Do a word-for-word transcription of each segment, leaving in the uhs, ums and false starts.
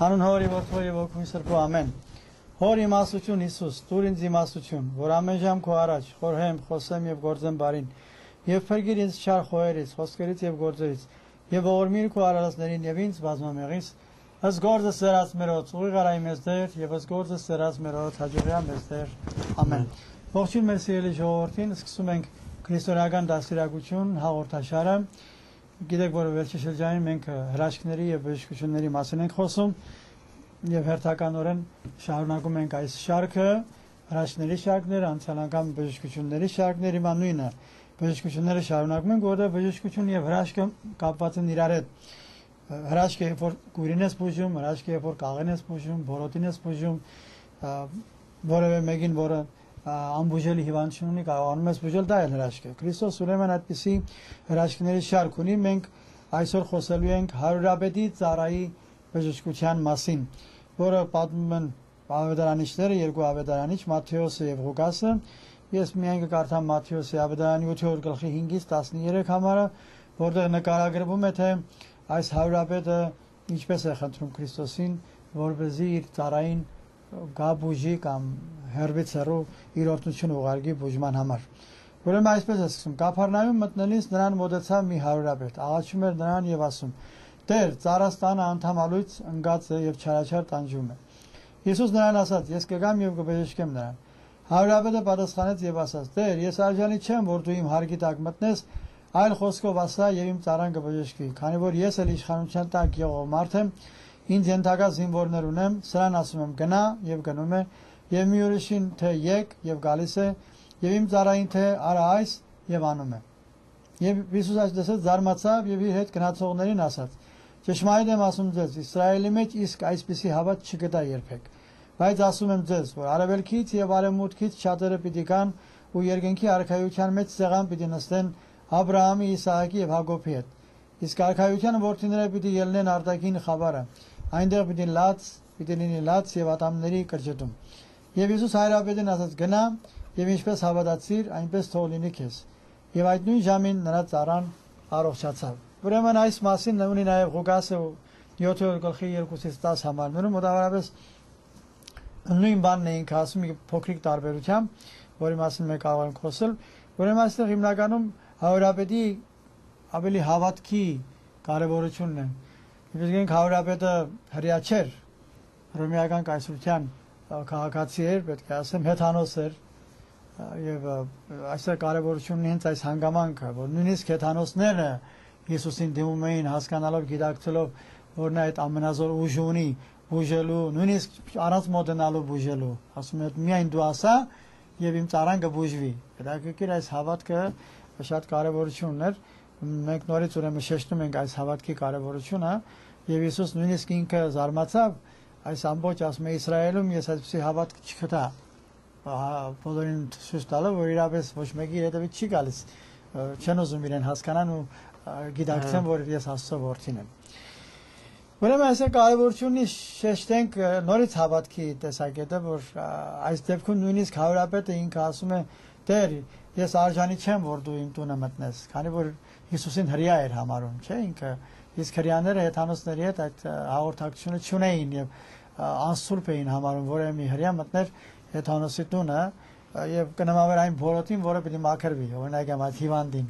Հանուն Հորի որդու եւ Ոգու Սրբու ամեն։ Հոր իմաստություն Հիսուս, դուր ինձ իմաստություն, որ ամեն ժամ քո առաջ խորհեմ, խոսեմ եւ գործեմ բարին, եւ փրկիր ինձ չար խոհերից, խոսքերից եւ գործերից, եւ ողորմիր քո արարածներին եւ ինձ բազմամեղից, ըստ գործը սերած մերոց, ուղիղ արայի մեզ դեր, եւ ըստ գործը սերած մերոց հաջողյա մեզ դեր։ Ամեն։ Ողջույն մեր սիրելի ժողովրդին, սկսում ենք քրիստոնեական դաստիարակություն հաղորդաշարը։ Գիտեք, որ վերջի շրջանին մենք հրաշքների եւ բժշկությունների մասին ենք խոսում եւ հերթականորեն շարունակում ենք այս շարքը, հրաշքների շարքները, անցյալական բժշկությունների շարքները, հիմա նույնը բժշկությունները շարունակում ենք, որտեղ բժշկություն եւ հրաշքը կապված են իրար հետ։ Հրաշքը երբ որ գույրին ես բուժում, հրաշքը երբ որ կաղին ես բուժում, բորոտին ես բուժում, որևէ մեկին, որը անբուժելի հիվանդություն ունի, կարողանում ես բուժել, դա է հրաշքը։ Քրիստոս ուրեմն այդպիսի հրաշքների շարք ունի, մենք այսօր խոսելու ենք հարյուրապետի ծառայի բժշկության մասին, որը պատմում են ավետարանիչները, երկու ավետարանիչ, Մատթեոսը եւ Ղուկասը։ Ես միայն կկարդամ Մատթեոսի ավետարանի ութերորդ գլխի հինգից տասներեք համարը, որտեղ նկարագրվում է, թե այս հարյուրապետը ինչպես է խնդրում Քրիստոսին, որպեսզի իր ծառային գա բուժի կամ հերվից հեռու իր օրհնությունը ուղարկի բուժման համար։ Ուրեմն այսպես է սկսում. Կափառնայում մտնելիս նրան մոտեցավ մի հարյուրապետ, աղաչում էր նրան եւ ասում. Տեր, ծառաս տանը անդամալույց ընկած է եւ չարաչար տանջում է։ Հիսուս նրան ասաց. Ես կգամ եւ կբժշկեմ նրան։ Հարյուրապետը պատասխանեց եւ ասաց. Տեր, ես արժանի չեմ, որ դու իմ հարկի տակ մտնես, այլ խոսքով ասա եւ իմ ծառան կբժշկի, քանի որ ես էլ իշխանության տակ եղող մարդ եմ, ինձ ենթակա զինվորներ ունեմ, սրան ասում եմ գնա եւ գնում է, եւ մի ուրիշին թե եկ եւ գալիս է, եւ իմ ծառային թե արա այս եւ անում է։ Եվ Հիսուս այսպես զարմացավ եւ իր հետ գնացողներին ասաց. Ճշմարիտ եմ ասում ձեզ, Իսրայելի մեջ իսկ այսպիսի հավատ չկտա երբեք։ Բայց ասում եմ ձեզ, որ արևելքից եւ արևմուտքից շատերը պիտի գան ու երկնքի արքայության մեջ սեղան պիտի նստեն Աբրահամի, Իսահակի եւ Հակոբի հետ։ Իսկ արքայության որդիները պիտի ելնեն արտաքին խավարը, այնտեղ պիտի լաց, պիտի լինի լաց եւ ատամների կրճտում։ Եվ Հիսուս հայրապետին ասաց. գնա եւ ինչպես հավատացիր, այնպես թող լինի քեզ։ Եվ այդ նույն ժամին նրա ծառան առողջացավ։ Ուրեմն այս մասին ունի նաեւ Ղուկասը յոթերորդ գլխի երկուից տասը համարներում մոտավորապես նույն բանն էինք ասում, մի փոքրիկ տարբերությամբ, որի մասին մենք կարող ենք խոսել։ Ուրեմն այստեղ հիմնականում հայրապետի ավելի հավատքի կարևորությունն է։ Իսկ հայրապետը հրյա չէր, հռոմեական կայսրության քաղաքացի էր, պետք է ասեմ, հեթանոս էր եւ այսօր կարևորություն ունի հենց այս հանգամանքը, որ նույնիսկ հեթանոսները Հիսուսին դիմում էին հասկանալով, գիտակցելով, որ նա այդ ամենազոր ուժը ունի բուժելու, նույնիսկ առանց մոտենալու բուժելու, ասում են միայն դու ասա եւ իմ ծառան կբուժվի։ Հետաքրքիր այս հավատքը շատ կարևորություն ուներ։ Մենք նորից ուրեմն շեշտում ենք այս հավատքի կարևորությունը եւ Հիսուս նույնիսկ ինքը զարմացավ այս ամբողջ ասում է Իսրայելում ես այսպեսի հավատք չգտա։ Բոլորին ցույց տալով, որ իրապես ոչ մեկի հետևից չի գալիս, չեն ուզում իրեն հասկանան ու գիտակցեն, որ ես Աստծո որդին եմ։ Ուրեմն այսօր կարևորություն ունի շեշտենք նորից հավատքի տեսակետը, որ այս դեպքում նույնիսկ հայրապետը ինքը ասում է. Տեր, ես արժանի չեմ, որ դու իմ տունը մտնես, քանի որ Հիսուսին հրյա էր համարում, չէ՞ ինքը, իսկ հրյաները հեթանոսների հետ այդ հաղորդակցությունը չունեին եւ անսուրբ էին համարում, որ մի հրյա մտներ հեթանոսի տունը եւ կնամավեր այն բորոտին, որը պիտի մաքրվի, օրինակ այդ հիվանդին։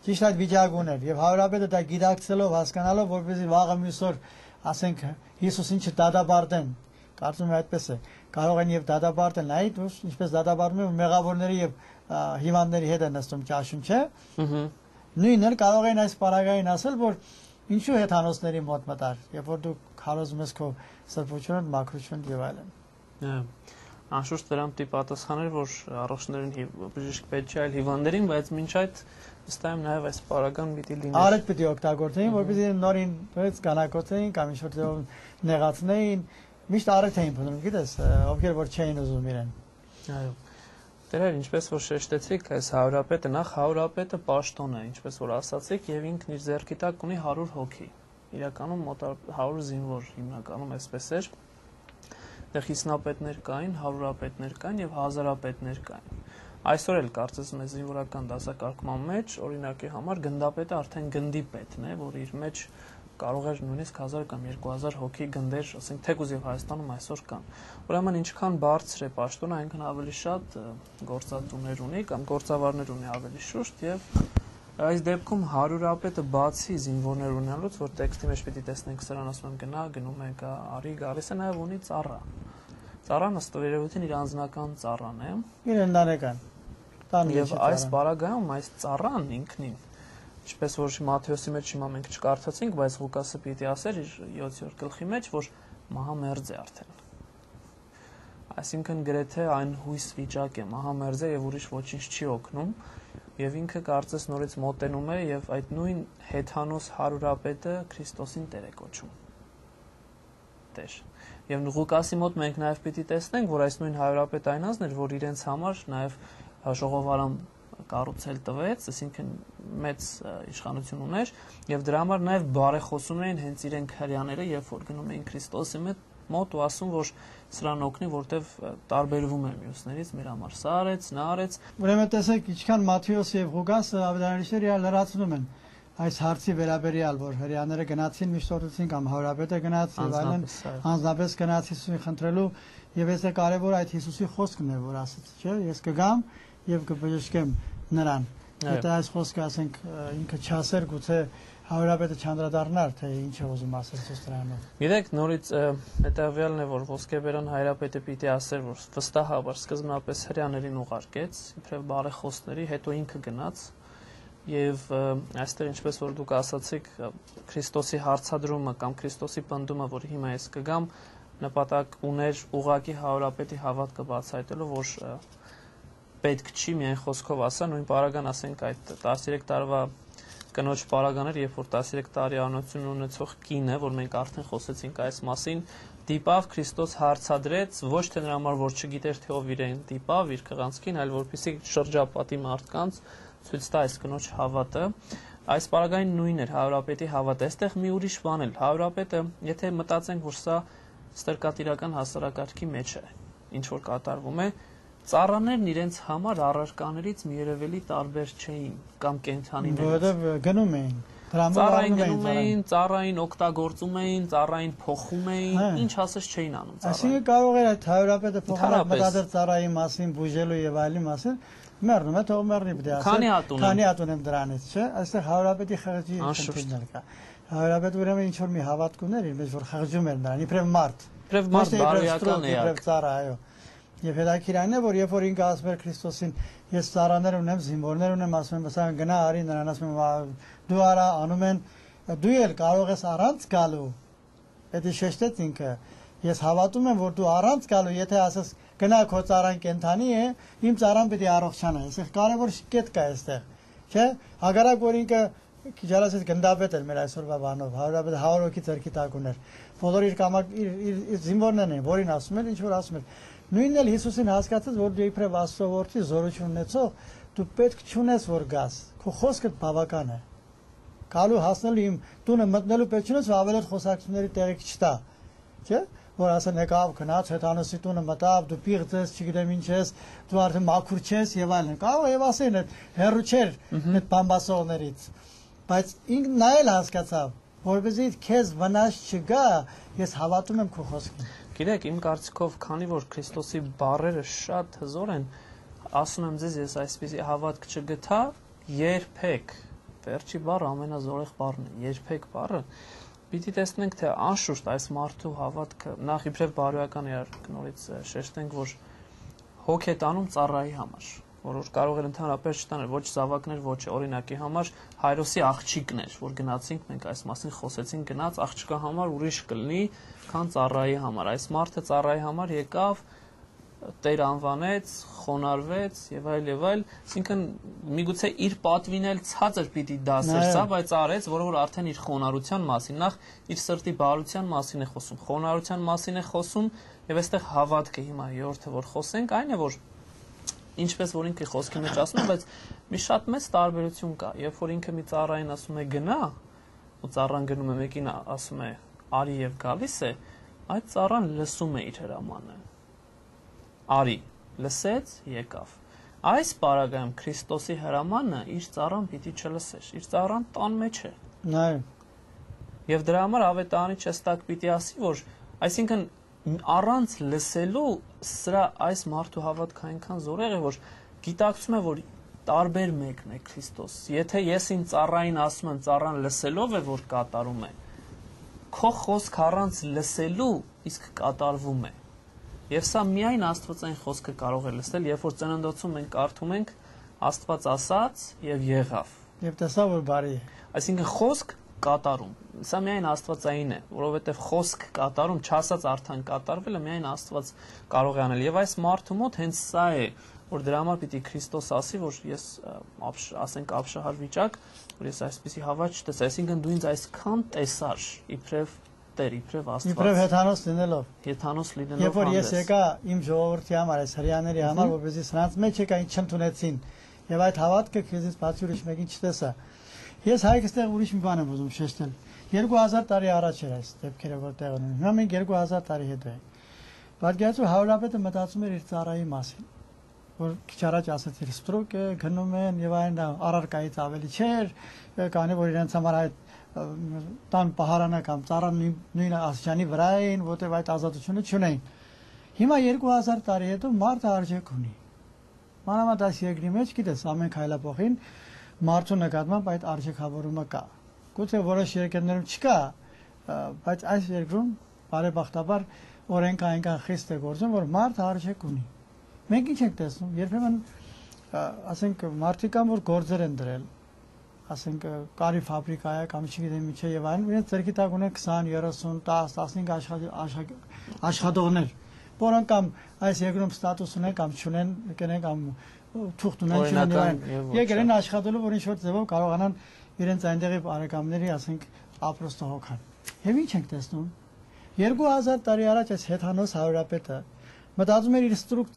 Ճիշտ այդ վիճակն էր եւ հայրապետը դա գիտակցելով, հասկանալով, որպեսզի վաղը մյուս օր ասենք Հիսուսին չդատապարտեն, կարծում եմ այդպես է, կարող են եւ դատապարտեն, այ դու ինչպես դատապարտում են մեղավորների եւ հիվանդների հետ են նստում ճաշում, չէ՞։ Նույնն էլ կարող են այս պարագային ասել, որ ինչու հեթանոսների մոտ մտար, երբ որ դու քարոզում ես քո սրբությունը, մաքրությունը եւ այլն։ Անշուշտ դրան պիտի պատասխաներ, որ առողջներին բժիշկ պետք չէ, այլ հիվանդներին, բայց մինչ այդ ըստ այմ նաև այս պարագան պիտի լինի։ Արդ պիտի օգտագործեին, որպեսզի նորին դրեց կանակոծեին կամ ինչ-որ նեղացնեին, միշտ արդ էին փնտրում, գիտես, ովքեր որ չէին ուզում իրեն։ Այո։ Դերեր, ինչպես որ շեշտեցիք, այս հայրապետը նախ հայրապետը պաշտոն է, ինչպես որ ասացիք, եւ ինքն իր ձեռքի տակ ունի հարյուր հոգի։ Իրականում մոտ հարյուր զինվոր հիմնականում այսպես էր։ Դեռ խիսնապետներ կային, հարյուրապետներ կային եւ հազարապետներ կային։ Այսօր էլ կարծես մեզ զինվորական դասակարգման մեջ օրինակի համար գնդապետը արդեն գնդի պետն է, որ իր մեջ կարող էր նույնիսկ հազար կամ երկու հազար հոգի գնդեր, ասենք թեկուզ եւ Հայաստանում այսօր կան։ Ուրեմն ինչքան բարձր է պաշտոնը, այնքան ավելի շատ գործատուներ ունի կամ գործավարներ ունի ավելի շուտ եւ այս դեպքում հարյուրապետը բացի զինվորներ ունենալուց, որ տեքստի մեջ պիտի տեսնենք սրան, ասում եմ գնա, գնում է, գա, արի, գալիս է նաեւ ունի ծառա։ Ծառան ըստ երևույթին իր անձնական ծառան է։ Իր ընտանեկան։ Եվ այս բaragայում այս ծառան ինքնին, ինչպես որ Մատթեոսի մեջ հիմա մենք չկարդացինք, բայց Ղուկասը պիտի ասեր իր յոթերորդ գլխի մեջ, որ մահամերձ է արդեն։ Այսինքն գրեթե այն հույս վիճակ է, մահամերձ է եւ ուրիշ ոչինչ չի օգնում, եւ ինքը կարծես նորից մոտենում է եւ այդ նույն հեթանոս հարյուրապետը Քրիստոսին Տեր է կոչում։ Տեր։ Եվ Ղուկասի մոտ մենք նաեւ պիտի տեսնենք, որ այս նույն հարյուրապետը այն ազն էր, որ իրենց համար նաեւ ժողովարան կառուցել տվեց, այսինքն մեծ իշխանություն ուներ եւ դրա համար նաեւ բարեխոսում էին հենց իրենք հрьяաները, երբ որ գնում էին Քրիստոսի մոտ ու ասում, որ սրան օգնի, որտեվ տարբերվում է մյուսներից, մեր համար սա արեց, նա արեց։ Ուրեմն տեսեք, ինչքան Մատթեոսը եւ Ղուկասը ավետարանիչները իրար լրացնում են այս հարցի վերաբերյալ, որ հрьяաները գնացին միշտորեցին կամ հարաբետը գնաց եւ այլն, անձնապես գնաց Հիսուսին խնդրելու եւ այսը կարեւոր այդ Հիսուսի խոսքն է, որ ասաց, չէ՞, ես կգամ եւ կբժշկեմ նրան։ Եթե այս խոսքը ասենք ինքը չասեր, գուցե հարաբետը չանդրադառնար, թե ինչ է ուզում ասել Սոստրանով։ Գիտեք, նորից հետևյալն է, որ ոսկեբերան հայրապետը պիտի ասեր, որ վստահաբար սկզբնապես հрьяաներին ուղարկեց, իբրև բարեխոսների, հետո ինքը գնաց եւ այստեղ ինչպես որ դուք ասացիք, Քրիստոսի հարցադրումը կամ Քրիստոսի պնդումը, որ հիմա ես կգամ, նպատակ ուներ ուղակի հարաբետի հավատքը բացահայտելու, որ պետք չի միայն խոսքով ասա, նույն պարագան ասենք այդ տասներեք տարվա կնոջ պարագաներ, երբ որ տասներեք տարի անություն ունեցող կինը, որ մենք արդեն խոսեցինք այս մասին, դիպավ Քրիստոս հարցադրեց, ոչ թե նրա համար, որ չգիտեր թե ով իրեն դիպավ իր քղանցքին, այլ որպեսզի շրջապատի մարդկանց ցույց տա այս կնոջ հավատը։ Այս պարագային նույնն էր հարաբետի հավատը։ Այստեղ մի ուրիշ բան էլ, հարաբետը, եթե մտածենք, որ սա ստրկատիրական հասարակարգի մեջ է, ինչ որ կատարվում է, ծառաներն իրենց համար առարկաներից մի երևելի տարբեր չէին կամ կենթանիներից։ Որովհետև գնում էին, ծառային գնում էին, ծառային օգտագործում էին, ծառային փոխում էին, ինչ ասես չէին անում ծառային։ Այսինքն կարող էր այդ հարաբետը փոխանակ մտածել ծառայի մասին, բուժելու եւ այլի մասին, մեռնում է, թող մեռնի պետք է ասել։ Քանի հատ ունեմ։ Քանի հատ ունեմ դրանից, չէ՞։ Այստեղ հարաբետի խղճի խնդիրներ կա։ Հարաբետը ուրեմն ինչ որ մի հավատք ուներ, իր մեջ որ խղճում էր նրան, իբրև մարդ։ Իբրև մարդ բարոյական է, իբրև ծառա, այո։ Եվ հետաքրքիրն է, որ երբ որ ինքը ասում էր Քրիստոսին, ես ծառաներ ունեմ, զինվորներ ունեմ, ասում եմ, ասա գնա արի նրան, ասում եմ, դու արա, անում են, դու էլ կարող ես առանց գալու։ Դա շեշտեց ինքը։ Ես հավատում եմ, որ դու առանց գալու, եթե ասես գնա քո ծառան կենթանի է, իմ ծառան պետք է առողջանա։ Այսինքն կարևոր կետ կա այստեղ, չէ՞։ Հագարակ որ ինքը քիչարասից գնդապետ էր մեր այսօրվա բանով, հարաբետ հարյուր հոգի ձեռքի տակ ուներ։ Բոլոր իր կամակ իր զինվորներն են, որին ասում էր, ինչ որ ասում էր։ Նույնն էլ Հիսուսին հասկացած, որ դու իբրև Աստծո որդի զորություն ունեցող, դու պետք չունես որ գաս, քո խոսքը բավական է։ Գալու հասնելու իմ տունը մտնելու պետք չունես, որ ավելի խոսակցությունների տեղիք չտա, չէ՞։ Որ ասեն եկավ գնաց հեթանոսի տունը մտավ, դու պիղծ ես, չգիտեմ ինչ ես, դու արդեն մաքուր չես եւ այլն։ Կարող եւ ասեն հերրու չէր այդ բամբասողներից։ Բայց ինքն նա էլ հասկացավ, որովհետեւ քեզ վնաս չգա, ես հավատում եմ քո խոսքին։ Գիտեք, իմ կարծիքով, քանի որ Քրիստոսի բառերը շատ հզոր են, ասում եմ ձեզ, ես այսպեսի հավատք չգտա, երբեք, վերջի բառը ամենազորեղ բառն է, երբեք բառը, պիտի տեսնենք, թե անշուշտ այս մարդու հավատքը, նախ իբրև բարոյական է, նորից շեշտենք, որ հոգ է տանում ծառայի համար, որ կարող էր ընդհանրապես չտանել ոչ զավակներ, ոչ օրինակի համար, Հայրոսի աղջիկներ, որ գնացինք, մենք այս մասին խոսեցինք, գնաց աղջկա համար ուրիշ կլինի, քան ծառայի համար։ Այս մարդը ծառայի համար եկավ, Տեր անվանեց, խոնարհվեց եւ այլ եւ այլ, այսինքն միգուցե իր պատվին էլ ցածր պիտի դասեր սա, բայց արեց, որը որ արդեն իր խոնարհության մասին, նախ իր սրտի բարության մասին է խոսում, խոնարհության մասին է խոսում եւ այստեղ հավատքը հիմա երրորդը որ խոսենք, այն է որ ինչպես որ ինքը խոսքի մեջ ասում է, բայց մի շատ մեծ տարբերություն կա, երբ որ ինքը մի ծառային ասում է գնա, ու ծառան գնում է մեկին ասում է արի եւ գալիս է, այդ ծառան լսում է իր հրամանը։ Արի, լսեց, եկավ։ Այս պարագայում Քրիստոսի հրամանը իր ծառան պիտի չլսեր, իր ծառան տան մեջ է։ Նայ։ Եվ դրա համար ավետարանի չստակ պիտի ասի, որ այսինքն առանց լսելու սրա այս մարդու հավատքը այնքան զորեղ է, որ գիտակցում է, որ տարբեր մեկն է Քրիստոս։ Եթե ես ինձ ծառային ասում եմ, ծառան լսելով է, որ կատարում է, քո խոսք առանց լսելու իսկ կատարվում է։ Եվ սա միայն Աստվածային խոսքը կարող է լսել, երբ որ ծննդոցում մենք կարդում ենք Աստված ասաց եւ եղավ։ Եվ տեսա որ բարի է։ Այսինքն խոսք կատարում։ Սա միայն Աստվածային է, որովհետև խոսք կատարում, չասած արդեն կատարվելը միայն Աստված կարող է անել։ Եվ այս մարդու մոտ հենց սա է, որ դրա համար պիտի Քրիստոս ասի, որ ես ասենք ապշահար վիճակ, որ ես այսպեսի հավատ չտեսա, այսինքն դու ինձ այսքան տեսար, իբրև Տեր, իբրև Աստված։ Իբրև հեթանոս լինելով։ Հեթանոս լինելով։ Երբ որ ես եկա իմ ժողովրդի համար, այս հрьяաների համար, որպեսզի սրանց մեջ եկա ինձ չընդունեցին, եւ այդ հավատքը քեզից բացի ուրիշ մեկին չտեսա։ Ես հայկստեղ ուրիշ մի բան եմ ուզում շեշտել։ երկու հազար տարի առաջ էր այս դեպքերը, որ տեղ ունեն։ Հիմա մենք երկու հազար տարի հետո ենք։ Պատկերացրու Հարուրապետը մտածում էր իր ծառայի մասին, որ քիչ առաջ ասաց իր ստրուկ է, գնում են եւ այն առարկայից ավելի չէր, կանի որ իրենց համար այդ տան պահարանը կամ ծառան նույն աստիճանի վրա էին, որտեղ այդ ազատությունը չունեին։ Հիմա երկու հազար տարի հետո մարդը արժեք ունի։ Մանավանդ այս երկրի մեջ, գիտես, ամեն քայլափոխին մարդու նկատմամբ այդ արժեքավորումը կա։ Գուցե որոշ երկրներում չկա, բայց այս երկրում բարեբախտաբար օրենքը այնքան խիստ է գործում, որ մարդը արժեք ունի։ Մենք ինչ ենք տեսնում, երբեմն ասենք մարդիկ կան, որ գործեր են դրել, ասենք կարի ֆաբրիկա է կամ չգիտեմ ինչ է եւ այլն, իրենց ձեռքի տակ ունեն քսան, երեսուն, տասը, տասնհինգ աշխատողներ, որոնք կամ այս երկրում ստատուս ունեն կամ չունեն, կնեն կամ թուղթ ունեն, չունեն եւ այլն։ Եկել են աշխատելու, որ ինչ-որ ձևով կարողանան իրենց այնտեղի բարեկամների, ասենք, ապրոստը հոգան։ Եվ ինչ ենք տեսնում։ երկու հազար տարի առաջ այս հեթանոս Հարուրապետը մտածում էր իր ստրուկ